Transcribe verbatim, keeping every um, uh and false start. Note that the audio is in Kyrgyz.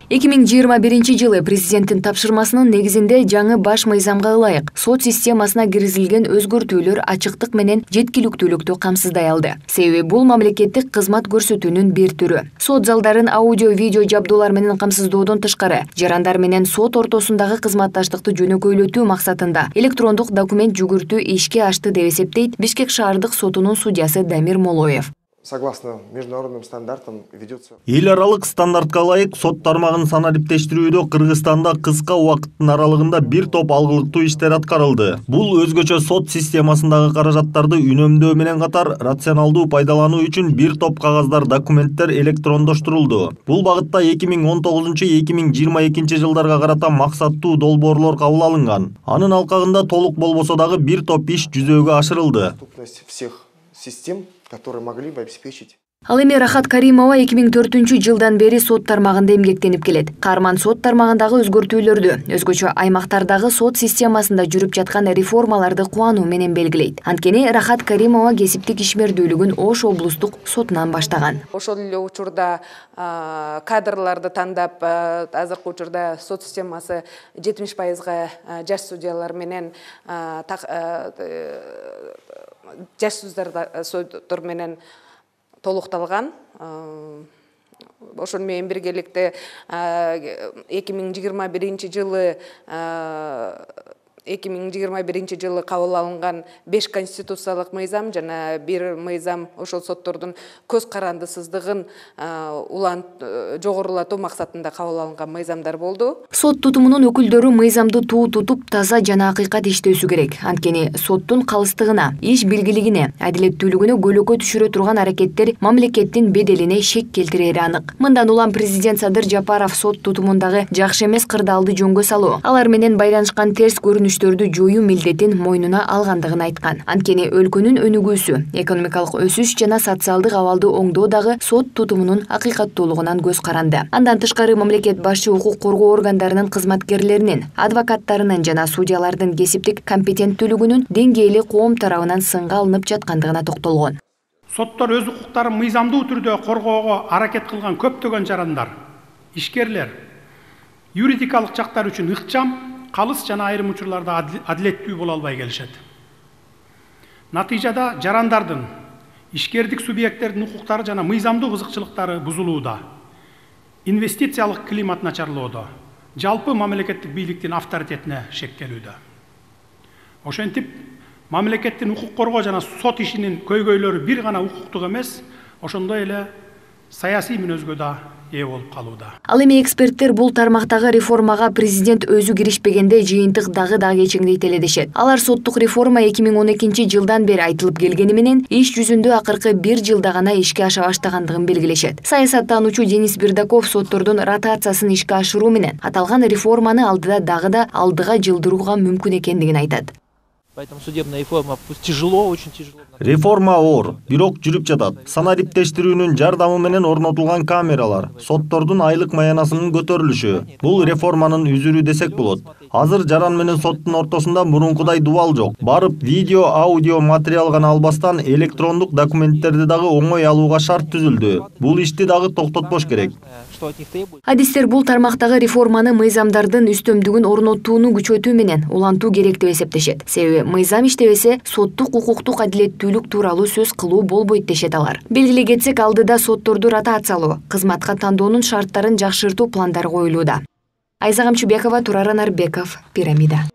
эки миң жыйырма биринчи жылы президенттин тапшырмасынын негизинде жаңы баш мыйзамга ылайык сот системасына киргизилген өзгөртүүлөр ачыктык менен жеткиликтүүлүктү камсыздай алды. Себеби бул мамлекеттик кызмат көрсөтүүнүн бир түрү. Сот залдарын аудио-видео жабдуулар менен камсыздоодон тышкары, жарандар менен сот ортосундагы кызматташтыкты жөнөкөйлөтүү максатында электрондук документ жүгүртүү ишке ашты деп эсептейт Бишкек шаардык сотунун судьясы Дамир Молоев. Согласно международным стандартам ведется. Эл аралык стандартка ылайык сот тармагын санариптештирүүдө Кыргызстанда кыска убакыттын аралыгында бир топ алгылыктуу иштер аткарылды. Бул өзгөчө сот системасындагы каражаттарды үнөмдөө менен катар рационалдуу пайдалануу үчүн бир топ кагаздар, документтер электрондоштурулду. Бул багытта эки миң он тогузунчу — эки миң жыйырма экинчи жылдарга карата максаттуу долбоорлор кабыл алынган. Анын алкагында толук болбосо дагы бир топ иш жүзөгө ашырылды. Всех систем, которые могли бы обеспечить. Ал эми Рахат Каримова эки миң төртүнчү жылдан бери сот тармагында эмгектенип келет. Каарман сот тармагындагы өзгөртүүлөрдү, өзгөчө аймактардагы сот системасында жүрүп жаткан реформаларды кубануу менен белгилейт. Анткени Рахат Каримова кесиптик ишмердүүлүгүн Ош облустук сотунан баштаган. Ошол эле учурда кадрларды тандап, азыркы учурда сот системасы жетимиш пайызга жаш судьялар менен жаш судьялар менен толукталган. Ошону менен биргеликте эки миң жыйырма биринчи жылы эки миң жыйырма биринчи жылы кабыл алынган беш конституциялык мыйзам жана бир мыйзам ошол соттордун көз карандысыздыгын улан жогорулатуу максатында кабыл алынган мыйзамдар болду. Сот тутумунун өкүлдөрү мыйзамды туу тутуп, таза жана акыйкат иштөөсү керек. Анткени соттун калыстыгына, иш билгилигине, адилеттүүлүгүнө көлөкө түшүрө турган аракеттер мамлекеттин беделине шек келтирери анык. Мындан улам президент Садыр Жапаров сот тутумундагы жакшы эмес кырдаалды жөнгө салуу, алар менен байланышкан терс көрүнүш жою милдетин мойнуна алгандыгын айткан. Анткени өлкөнүн өнүгүүсү, экономикалык өсүш жана социалдык абалды оңдоо дагы сот тутумунун акыйкаттуулугунан көз каранды. Андан тышкары мамлекет башы укук коргоо органдарынын кызматкерлеринин, адвокаттарынын жана судьялардын кесиптик компетенттүүлүгүнүн деңгээли коом тарабынан сынга алынып жаткандыгына токтолгон. Соттор өз укуктарын мыйзамдуу түрдө коргоого аракет кылган көптөгөн жарандар, ишкерлер юридикалык жактар үчүн ыкчам, калыс жана айрым учурларда адилеттүү боло албай келишет. Натыйжада жарандардын, ишкердик субъекттердин укуктары жана мыйзамдуу кызыкчылыктары бузулууда, инвестициялык климат начарлоодо, жалпы мамлекеттик бийликтин авторитетине шек келүүдө. Ошентип, мамлекеттин укук коргоо жана сот ишинин көйгөйлөрү бир гана укуктук эмес, ошондой эле саясий мүнөзгө да ээ болуп калууда. Ал эми эксперттер бул тармактагы реформага президент өзү киришпегенде жыйынтык дагы дагы кечиңдейт эле дешет. Алар соттук реформа эки миң он экинчи жылдан бери айтылып келгени менен иш жүзүндө акыркы бир жылда гана ишке аша баштагандыгын белгилешет. Саясаттануучу Денис Бирдаков соттордун ротациясын ишке ашыруу менен аталган реформаны алдыда дагы да алдыга жылдырууга мүмкүн экендигин айтат. Поэтому судебная реформа пусть тяжело, очень тяжело. Реформа оор, бирок жүрүп жатат. Санариптештирүүнүн жардамы менен орнотулган камералар, соттордун айлык маянасынын көтөрүлүшү. Бул реформанын үзүрү десек болот. Азыр жаран менен соттун ортосунда мурункудай дубал жок. Барып видео, аудио материал гана албастан электрондук документтерди дагы оңой алууга шарт түзүлдү. Бул ишти дагы токтотпош керек. Адистер бул тармактагы реформаны мыйзамдардын үстөмдүгүн орнотууну күчөтүү менен улантуу керек деп эсептешет. Себеби мыйзам иштебесе, соттук укуктук адилеттүүлүк тууралуу сөз кылуу болбойт дешет алар. Белгилей кетсек, алдыда сотторду ротациялоо, кызматка тандоонун шарттарын жакшыртуу пландары коюлууда. Айза Камчыбекова, Турар Анарбеков, Пирамида.